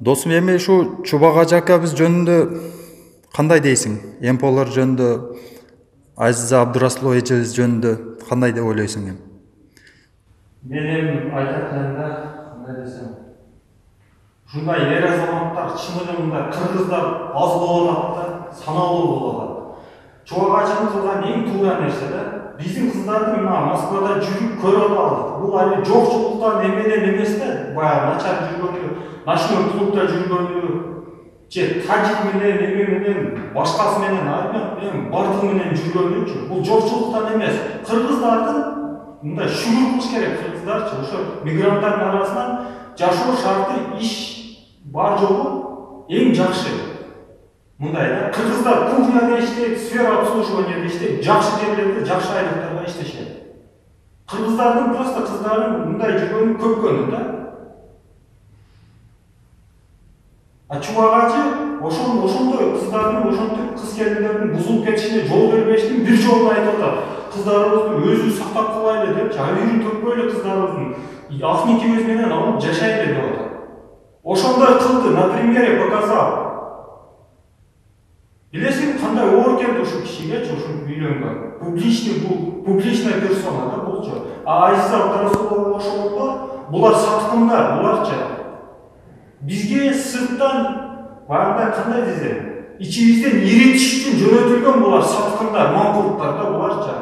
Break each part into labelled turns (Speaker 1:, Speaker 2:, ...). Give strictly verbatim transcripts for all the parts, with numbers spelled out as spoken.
Speaker 1: Досум, эми ушу Чубак акабыз жөнүндө кандай дейсиң? Эмполор жөнүндө, Азиза Абдурасулова эжебиз жөнүндө кандай деп ойлойсуң эми?
Speaker 2: Мен эми айтат элем, кандай десем, ушундай эр азаматтар чыныгы мындай кыргыздар аз болуп атат да, саналуу болуп атат. Чубак акабыз кылган эң туура нерсе да, биздин кыздарды мына Москвада жүрүп көрүп атабыз. Бул али жокчулуктан эмеден эмес да, баягы начар жүргөнү, ночной клубда жүргөнү, же тажик менен, эме менен, башкасы менен, армян менен, бардыгы менен жүргөнүчү. Бул жокчулуктан эмес. Кыргыздардын мындай шүгүр кылыш керек, кыргыздарчы, ошо мигранттардын арасынан жашоо шарты, иш бар жогу эң жакшы. Мындай да, кыргыздар кухняда иштейт, сфера обслуживанияда иштейт, жакшы жерлерде, жакшы айлыктарга иштешет. Кыргыздардын просто кыздарын мындай жүргөнү көпкөнү да. А Чубак ачы ошол ошондой кыздардын, ошондой кыз келиндердин бузулуп кетишине жол бербештин бир жолун айтып атат. Кыздарыбызды өзүбүз сактап калайлы депчи, айрым төкпөйлү кыздарыбыздын ахникибиз менен алып жашайлы деп атат. Ошондой кылды, на примере показал. Билесиң кандай оор келди ушу кишигечи, ушу үйлөнгөн. Публичный бул, публичная персона да булчу. А Азиза Абдурасулова ошолор, булар саткындар, буларчы. Бизге сырттан баягындай кандай десем, ичибизден иритиш үчүн жөнөтүлгөн булар саткындар, маңкулуктар да буларчы.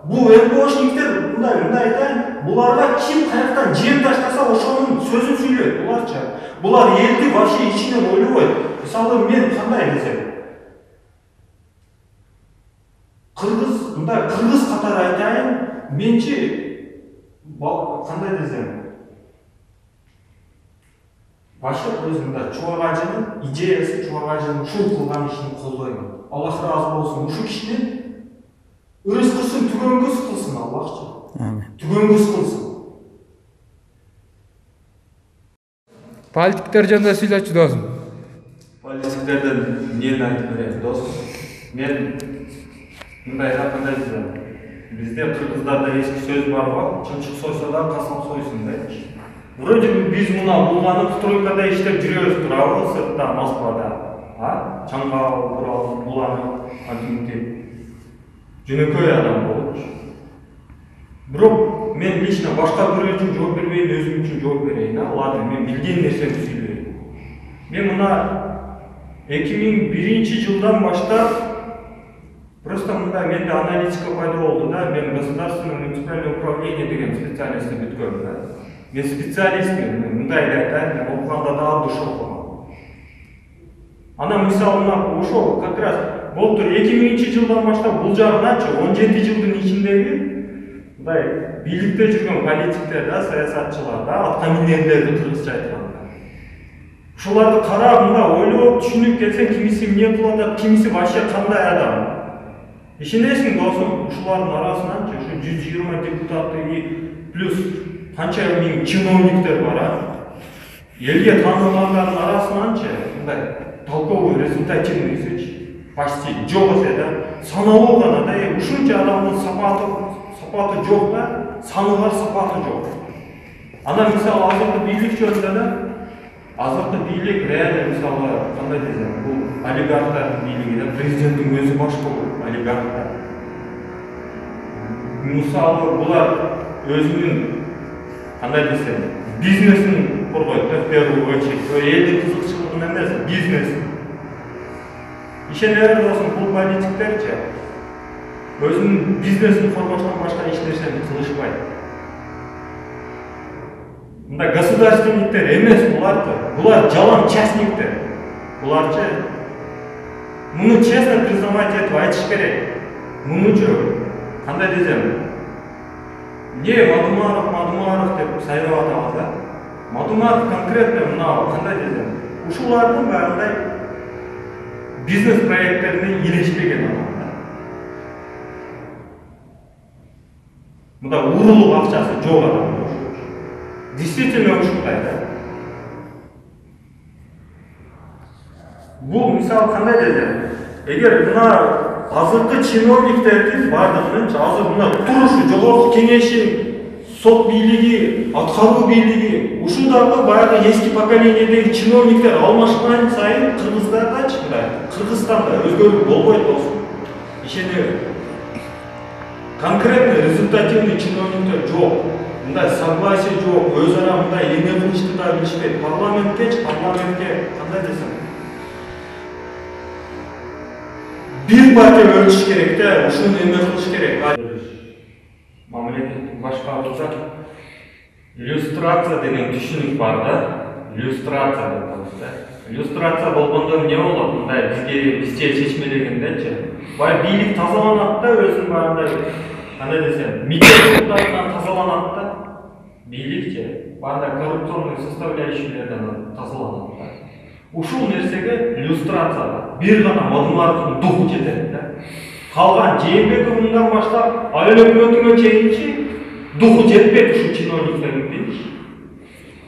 Speaker 2: Бул МПОшниктер мындай мындай айтайын, буларга ким каяктан жем таштаса ошонун сөзүн сүйлөйт буларчы. Булар элди вообще ичинен ойлобойт. Мисалы мен кандай десем, кыргыз, мындай кыргыз катары айтайын, менчи кандай десем, башка өзүмдө Чубак ажынын идеясы, Чубак ажынын ушул кылган ишин колдоймун. Аллах ыраазы болсун. Ушу кишинин ырыскысын түгөнгүс кылсын Аллахчы.
Speaker 1: Амин.
Speaker 2: Түгөнгүс кылсын.
Speaker 3: Политиктер жөнүндө сүйлөчү досум.
Speaker 2: Политиктерден эмнени айтып берем, досум? Мен мындай кандай десем, бизде кыргыздарда эски сөз бар го, чымчык сойсо да касам сойсун депчи. Вроде бы биз мына булганып стройкада иштеп жүрөбүз турабы, сыртта, Москвада. А? Чаңга буралып, буланып, антинтип. Жөнөкөй адам болчу. Бирок мен лично башка бирөө үчүн жооп бербейин, өзүм үчүн жооп берейин. Ладно, мен билген нерсемди сүйлөйм. Мен мына эки миң биринчи жылдан баштап просто мындай менде аналитика пайда болду да, мен государственное муниципальное управление деген специальностьти бүткөм да. Мен специалистмин, мындай айтайын, мен окуганда да душ окугам. Анан мисалы мына ошол как раз болтур эки миңинчи жылдан баштап бул жагыначы он жети жылдын ичиндеги мындай бийликте жүргөн политиктер да, саясатчылар да, атка мингендерди кыргызча айтканда. Ушуларды карап, мындай ойлоп, түшүнүп келсең, кимиси эмне кылып атат, кимиси вообще кандай адам. Ишенесиң досум, ушулардын арасынан ушу жүз жыйырма депутаты плюс канча миң чиновниктер бар, а? Элге таанылгандардын арасынанчы мындай толковый, результативныйсычы почти жок эсе да, саналуу гана да, ушунча адамдын сапаты сапаты жок да, саны бар, сапаты жок. Анан мисалы азыркы бийлик жөнүндө да, азыркы бийлик реально мисалы кандай десем, бул олигархтардын бийлиги да, президенттин өзү баш болот, олигархтар. Мисалы булар өзүнүн кандай десем, бизнесин коргойт да, в первую очередь. Элдин кызыкчылыгын эмес, бизнес. Ишене бер досум, бул политиктерчи өзүнүн бизнесин коргоштон башка эч нерсени кылышпайт. Мындай государственниктер эмес буларды, булар жалаң частниктер. Буларчы муну честно признавать этип айтыш керек. Мунучу кандай десем, не Мадумаров, Мадумаров деп сайрап атабыз да. Мадумаров конкретно мына кандай десем, ушулардын баягындай бизнес проекттерине илешпеген адам да. Мында урулук акчасы жок адам. Действительно ушундай да. Бул мисалы кандай десем, эгер мына азыркы чиновниктердин бардыгынын азыр мына турушу жогорку кеңешин сот бийлиги, аткаруу бийлиги, ушу дагы баягы эски поколениедеги чиновниктер алмашкан сайын Кыргыздардачы, мындай Кыргызстанда өзгөрүү болбойт болсун. Ишенебиз. Конкретно результативный чиновниктер жок. Мындай согласие жок, өз ара мындай эме кылышты да билишпейт. Парламенткечи, парламентке кандай десем, бир партия өлчүш керек да, ушуну эме кылыш керек. Мамлекеттик башкарууда иллюстрация деген түшүнүк бар да. Иллюстрация деп атабыз да. Иллюстрация болгондо эмне болот? Мындай бизге бизче чечмелегендечи. Бай бийлик тазаланат да, өзүн баягындай кандай десем, митингдерден тазаланат да. Бийликчи баягындай коррупционный составляющийлерден тазаланат да. Ушул нерсеге иллюстрация бир гана Мадумаровдун духу жетет да. Калган Жээнбеков мындан баштап айыл өкмөтүнө чейинчи духу жетпейт ушул чиновниктердин дейчи.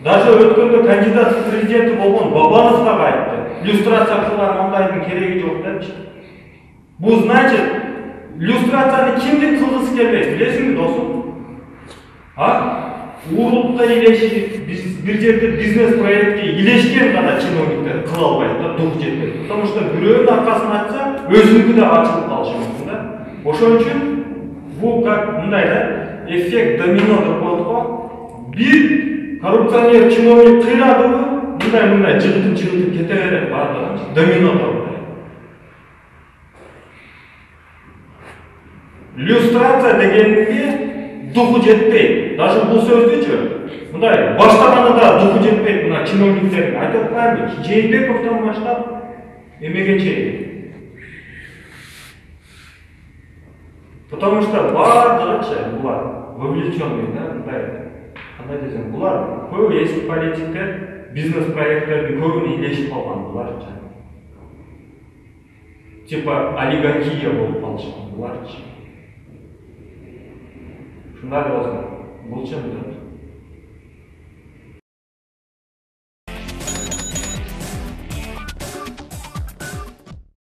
Speaker 2: Даже өткөндө кандидат в президенти болгон Бабанов дагы айтты. Иллюстрация кылган мындайдын кереги жок депчи. Бул значит, иллюстрацияны кимдин кылгысы келбейт, билесиңби досум? А? Урулукка илешип, бир жерде бизнес проектке илешкен гана чиновниктер кыла албайт да, дух жетпейт. Потому что бирөөнүн аркасын ачса, өзүнүкү да ачылып калышы мүмкүн да. Ошон үчүн бул как мындай да, эффект домино деп коет го. Бир коррупционер чиновник кыйрадыбы, мындай мындай жыгытып жыгытып кете берет баардыгы, домино деп. Иллюстрация дегенге духу жетпейт. Даже бул сөздүчү мындай баштаганда да духу жетпейт мына чиновниктердин. Айтып атпаймынбы? Жээнбековдон баштап эмеге чейин. Потому что баардыгычы булар вовлеченный да, мындай кандай десем, булар көп эски политиктер, бизнес проекттердин көбүнө илешип калган буларчы. Типа олигархия болуп калышкан буларчы. Шундай болсо, бул чын.